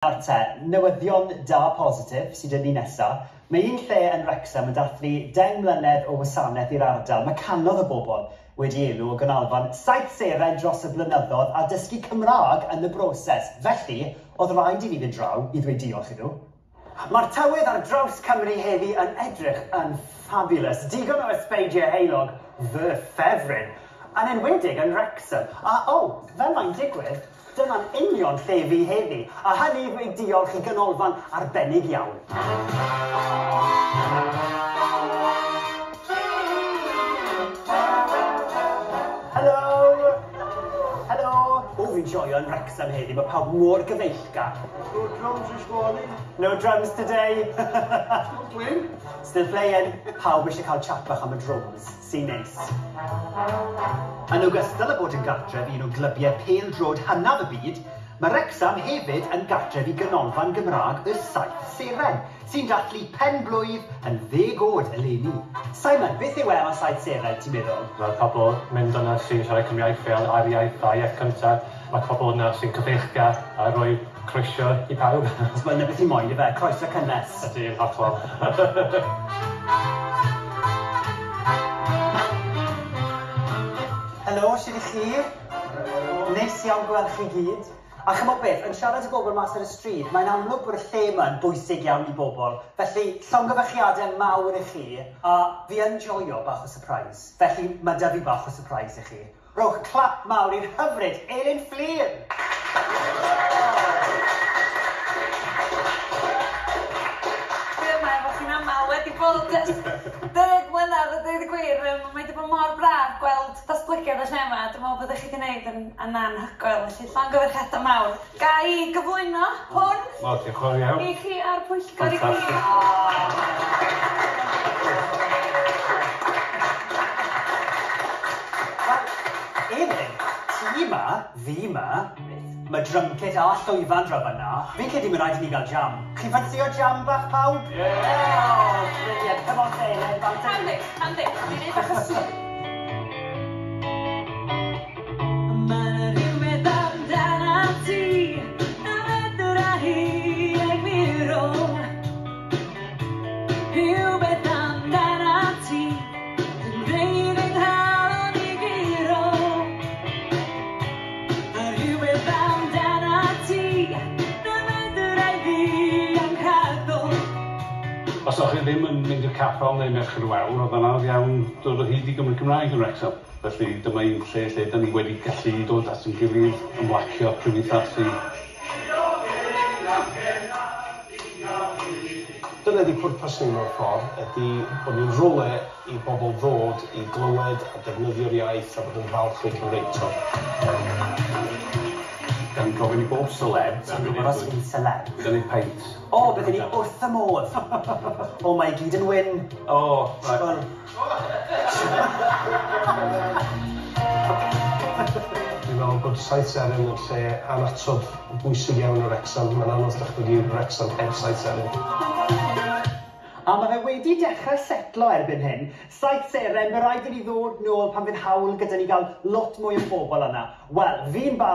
Nawr te, newyddion da positif sy 'da ni nesa. Mae un lle yn Wrecsam yn dathlu 10 mlynedd o wasanaeth i'r ardal. Mae cannoedd o bobl wedi elw o ganolfan Saith Seren dros y blynyddoedd a dysgu Cymraeg yn y broses. Felly, oedd rhaid i fi fynd draw i ddweud diolch i nhw. Mae'r tywydd ar draws Cymru heddi yn edrych yn fabulous. Digon o ysbeidiau heulog, fy ffefryn. Yn enwedig yn Wrecsam. A o, fel mae'n digwydd, dyna'n union lle fi heddi, a hynny i ddweud diolch i ganolfan arbennig iawn. Helo! Helo! O, fi'n joio yn Wrecsam heddi, mae pawb mor gyfeillgar. No drums this morning. No drums today. Still playing. Still playing. Pawb eisiau cael chat bach am y drums, sy'n neis. Yn ogystal â bod yn gartref i un o glybiau pêl-droed hynaf y byd, mae Wrecsam hefyd yn gartref i Ganolfan Gymraeg y Saith Seren, sy'n dathlu pen-blwydd yn ddeg oed eleni. Simon, beth yw e am y Saith Seren, ti'n meddwl? Mae pobl mynd yna sy'n siarad Cymraeg fel ail iaith a iaith cyntaf. Mae pobl yna sy'n cyfeillgar a rhoi croeso i pawb. Wel, 'na beth ni moyn, ife? Croeso cynnes. Ydy, yn hollol. Helo, shwd 'ych chi? Neis iawn gweld chi gyd. A chimod beth, yn siarad i bobl mas ar y stryd, mae'n amlwg bod y lle yma yn bwysig iawn i bobl. Felly, llongyfarchiadau mawr i chi, a fi yn joio bach o surprise. Felly, mae 'da fi bach o surprise i chi. Rhowch clap mawr i'r hyfryd Elin Fflur! Dwi yma efo chi'n amal, wedi bod ers 10 mlynedd a deud y gwir, yym mae 'di bod mor braf gweld datblygiad y lle 'ma, dwi'n meddwl bod chi 'di wneud yn yn anhygoel, felly llongyfarchiadau mawr. Ga i gyflwyno hwn? Wel, diolch yn fawr iawn. I chi a'r pwyllgor i gyd. Wel, Elin, ti 'ma, fi 'ma, ma' drum kit a llwyfan draw fan'na. Fi'n credu ma' raid i ni gael jam. Chi'n ffansïo jam bach pawb? Ie! Oh, brilliant. Come on te, Elin, bant â ni. Handi, handi. Dwi'n neud bach o sŵn. Mae 'na rhywbeth amdanat ti na fedra i egluro. Rhywbeth amdanat ti sy'n gwneud fy nghalon i guro. A rhywbeth amdanat ti na fedra i ddianc rhagddo. Os o'ch chi ddim yn mynd i'r capel neu Merched y Wawr, oedd o'n anodd iawn dod o hyd i Gymry Cymraeg yn Wrecsam. Felly dyma un lle lle 'dan ni wedi gallu dod at ein gilydd, ymlacio, cymdeithasu. Dyna ydi pwrpas ni mewn ffordd, ydi bod ni'n rywle i bobl ddod i glywed a defnyddio'r iaith a bod yn falch o'u Cymreictod. Dan ni'n gofyn i bob celeb. Sa i'n gwybod os fi'n celeb. Gynnig peint. O, bydden ni wrth y modd! O, mae i gyd yn wyn. O, reit. Wel... Dwi'n meddwl bod Saith Seren yn lle annatod bwysig iawn i Wrecsam. Mae'n anodd dychmygu Wrecsam heb Saith Seren. A ma' fe wedi dechrau setlo erbyn hyn. Saith Seren, ma' raid i ni ddod nôl pan fydd hawl gyda ni gael lot mwy o bobl yna. Wel, fi'n barod.